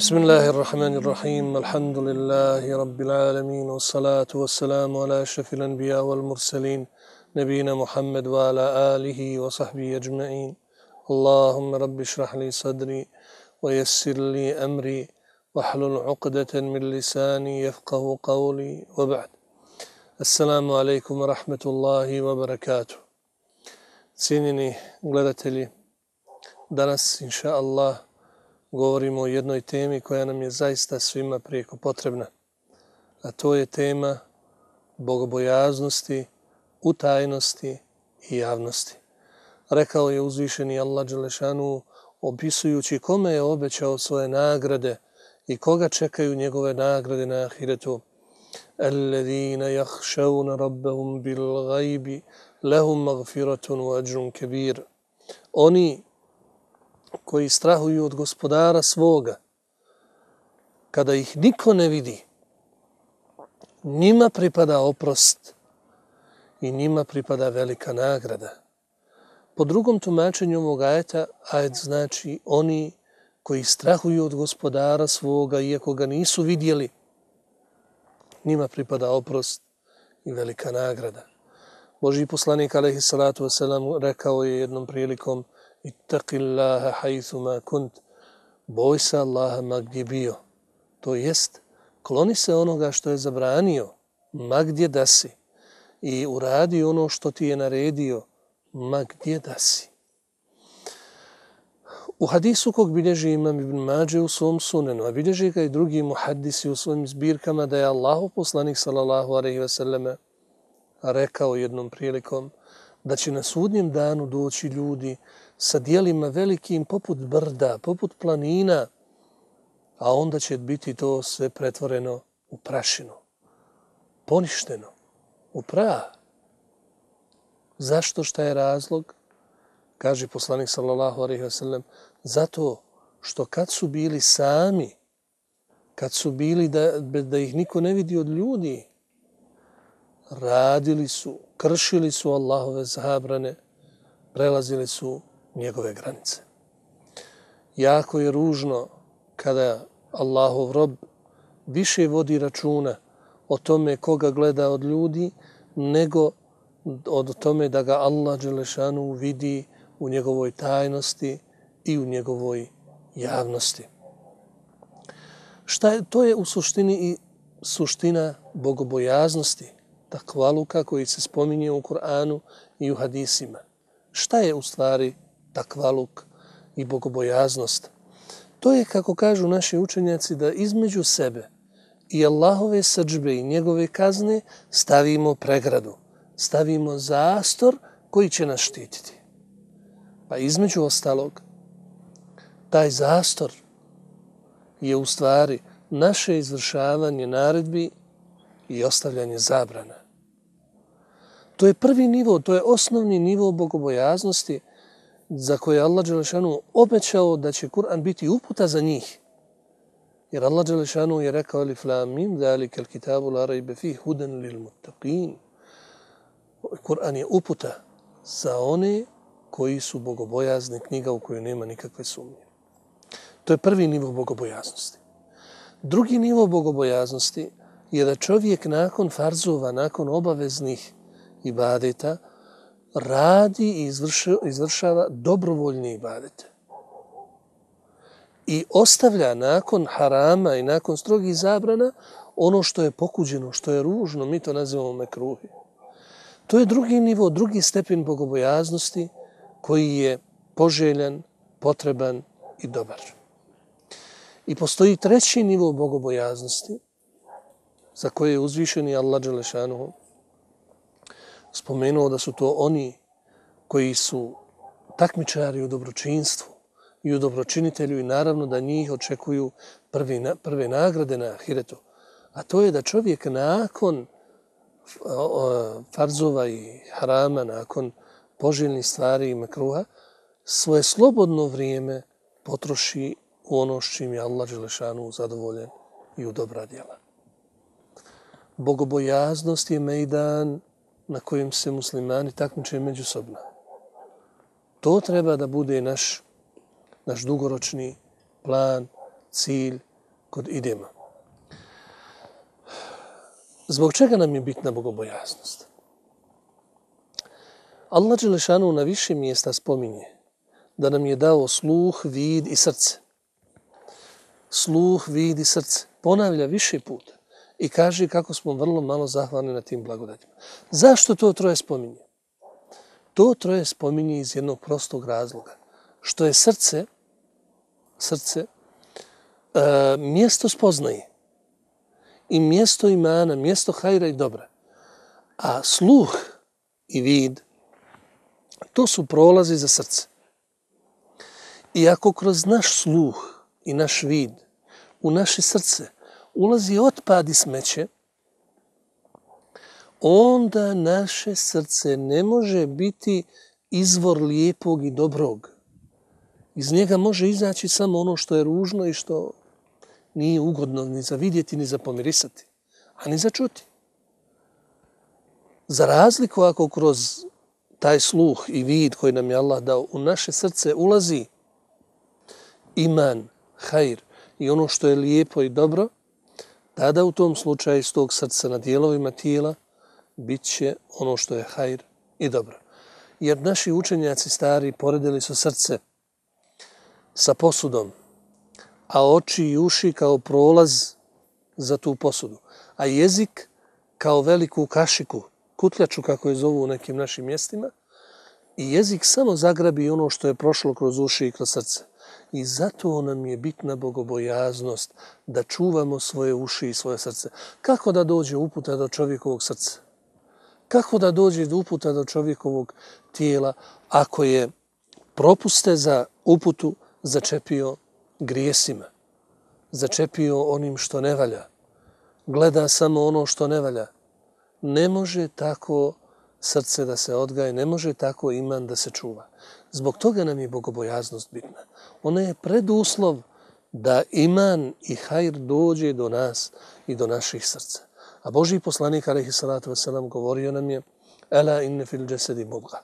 بسم الله الرحمن الرحيم الحمد لله رب العالمين والصلاة والسلام على أشرف الأنبياء والمرسلين نبينا محمد وعلى آله وصحبه أجمعين اللهم رب اشرح لي صدري ويسر لي أمري واحلل عقدة من لساني يفقه قولي وبعد السلام عليكم ورحمة الله وبركاته. Cijenjeni gledatelji, danas inša Allah govorimo o jednoj temi koja nam je zaista svima prijeko potrebna, a to je tema bogobojaznosti, utajnosti i javnosti. Rekao je uzvišeni Allah dželešanu opisujući kome je obećao svoje nagrade i koga čekaju njegove nagrade na ahiretu. Alladhina yakhshawna rabbahum bil ghaibi lahum maghfiratun wa ajrun kabir. Oni koji strahuju od gospodara svoga, kada ih niko ne vidi, njima pripada oprost i njima pripada velika nagrada. Po drugom tumačenju ovog ajeta, ajet znači oni koji strahuju od gospodara svoga, iako ga nisu vidjeli, njima pripada oprost i velika nagrada. Božji poslanik alejhi salatu vesselam rekao je jednom prilikom: Ittaqillaha haythuma kunt, boj se Allaha ma gdje bio. To jest, kloni se onoga što je zabranio, ma gdje da si, i uradi ono što ti je naredio, ma gdje da si. U hadisu kog bilježi imam Ibn Mađe u svom sunenu, a bilježi ga i drugi muhaddisi u svojim zbirkama, da je Allahov poslanik sallallahu alejhi ve selleme rekao jednom prilikom da će na sudnjem danu doći ljudi sa dijelima velikim poput brda, poput planina, a onda će biti to sve pretvoreno u prašinu, poništeno, u prah. Zašto? Šta je razlog? Kaže poslanik sallallahu alejhi ve sellem, zato što kad su bili sami, kad su bili da ih niko ne vidi od ljudi, radili su, kršili su Allahove zabrane, prelazili su njegove granice. Jako je ružno kada Allahov rob više vodi računa o tome koga gleda od ljudi, nego od tome da ga Allah dželešanu vidi u njegovoj tajnosti i u njegovoj javnosti. To je u suštini i suština bogobojaznosti, takvaluka koji se spominje u Kur'anu i u hadisima. Šta je u stvari takvaluk i bogobojaznost? To je, kako kažu naši učenjaci, da između sebe i Allahove srdžbe i njegove kazne stavimo pregradu, stavimo zastor koji će nas štititi. Pa između ostalog, taj zastor je u stvari naše izvršavanje naredbi i ostavljanje zabrana. To je prvi nivo, to je osnovni nivo bogobojaznosti za koje Allah dželešanu obećao da će Kur'an biti uputa za njih. Jer Allah dželešanu je rekao: Alif lam mim zalikal kitabu la rayba fihi hudan lil muttaqin. Kur'an je uputa za one koji su bogobojazni, knjiga u kojoj nema nikakve sumnje. To je prvi nivo bogobojaznosti. Drugi nivo bogobojaznosti je da čovjek nakon farzova, nakon obaveznih ibadeta, radi i izvršava dobrovoljne ibadete. I ostavlja nakon harama i nakon strogih zabrana ono što je pokuđeno, što je ružno, mi to nazivamo mekruhi. To je drugi nivo, drugi stepen bogobojaznosti koji je poželjan, potreban i dobar. I postoji treći nivo bogobojaznosti za koje je uzvišeni Allah dželešanuhu spomenuo da su to oni koji su takmičari u dobročinstvu i u dobročinitelju, i naravno da njih očekuju prve nagrade na ahiretu. A to je da čovjek nakon farzova i harama, nakon poželjnih stvari i makruha, svoje slobodno vrijeme potroši u ono s čim je Allah dželešanu zadovoljen i u dobra djela. Bogobojaznost je mejdan na kojem se muslimani takmiče međusobno. To treba da bude naš dugoročni plan, cilj kud idemo. Zbog čega nam je bitna bogobojaznost? Allah dželešanu na više mjesta spominje da nam je dao sluh, vid i srce. Sluh, vid i srce. Ponavlja više puta i kaže kako smo vrlo malo zahvalni na tim blagodatima. Zašto to troje spominje? To troje spominje iz jednog prostog razloga. Što je srce mjesto spoznaje i mjesto imana, mjesto hajra i dobra. A sluh i vid, to su prolazi za srce. I ako kroz naš sluh i naš vid u naše srce ulazi otpad i smeće, onda naše srce ne može biti izvor lijepog i dobrog. Iz njega može izaći samo ono što je ružno i što nije ugodno ni za vidjeti, ni za pomirisati, a ni za čuti. Za razliku ako kroz taj sluh i vid koji nam je Allah dao u naše srce ulazi iman, hajr i ono što je lijepo i dobro, tada u tom slučaju iz tog srca na dijelovima tijela bit će ono što je hajr i dobro. Jer naši učenjaci stari poredili su srce sa posudom, a oči i uši kao prolaz za tu posudu, a jezik kao veliku kašiku, kutljaču kako je zovu u nekim našim mjestima, i jezik samo zagrabi ono što je prošlo kroz uši i kroz srce. I zato nam je bitna bogobojaznost da čuvamo svoje uši i svoje srce. Kako da dođe uputa do čovjekovog srca? Kako da dođe do uputa do čovjekovog tijela ako je propuste za uputu začepio grijesima, začepio onim što ne valja, gleda samo ono što ne valja? Ne može tako srce da se odgaje, ne može tako iman da se čuva. Zbog toga nam je bogobojaznost bitna. Ona je preduslov da iman i hajr dođe do nas i do naših srca. A Božji poslanik alejhi salatu vesselam govorio nam je: "Ela inne fil jasadi mudgha,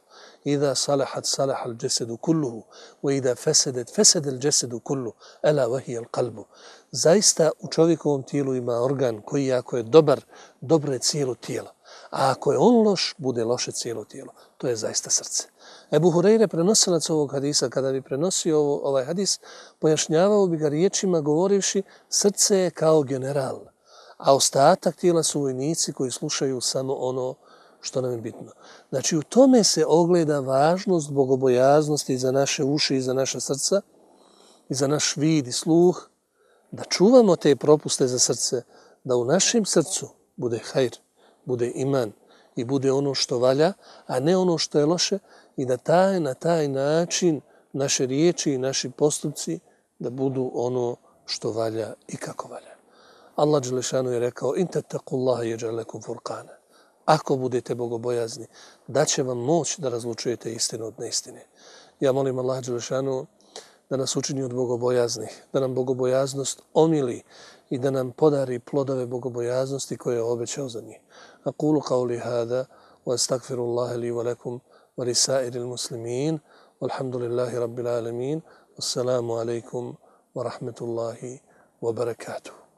idha salahat salaha al jasadu kulluhu, wa idha fasadat fasada al jasadu kulluhu, ela wa hiya al qalbu." Zaista u čovjekovom tijelu ima organ koji ako je dobar, dobro je cijelo tijelo. A ako je on loš, bude loše cijelo tijelo. To je zaista srce. Ebu Hureyre, prenosilac ovog hadisa, kada bi prenosio ovaj hadis, pojašnjavao bi ga riječima govorivši: srce je kao general, a ostatak tijela su vojnici koji slušaju samo ono što nam je bitno. Znači, u tome se ogleda važnost bogobojaznosti za naše uši i za naša srca i za naš vid i sluh, da čuvamo te propuste za srce, da u našem srcu bude hajr, bude iman i bude ono što valja, a ne ono što je loše, i da na taj način naše riječi i naši postupci da budu ono što valja i kako valja. Allah dželešanu je rekao: "In tattaqullaha yaj'al lakum furqana." Ako budete bogobojazni, daće vam moć da razlučujete istinu od neistine. Ja molim Allah dželešanu da nas učini od bogobojaznih, da nam bogobojaznost omili i da nam podari plodove bogobojaznosti koje je obećao za njih. Aqulu qawli hada wa astaghfirullaha li wa lakum wa lisairil muslimin. Walhamdulillahi rabbil alamin. Wassalamu alaikum wa rahmatullahi wa barakatuh.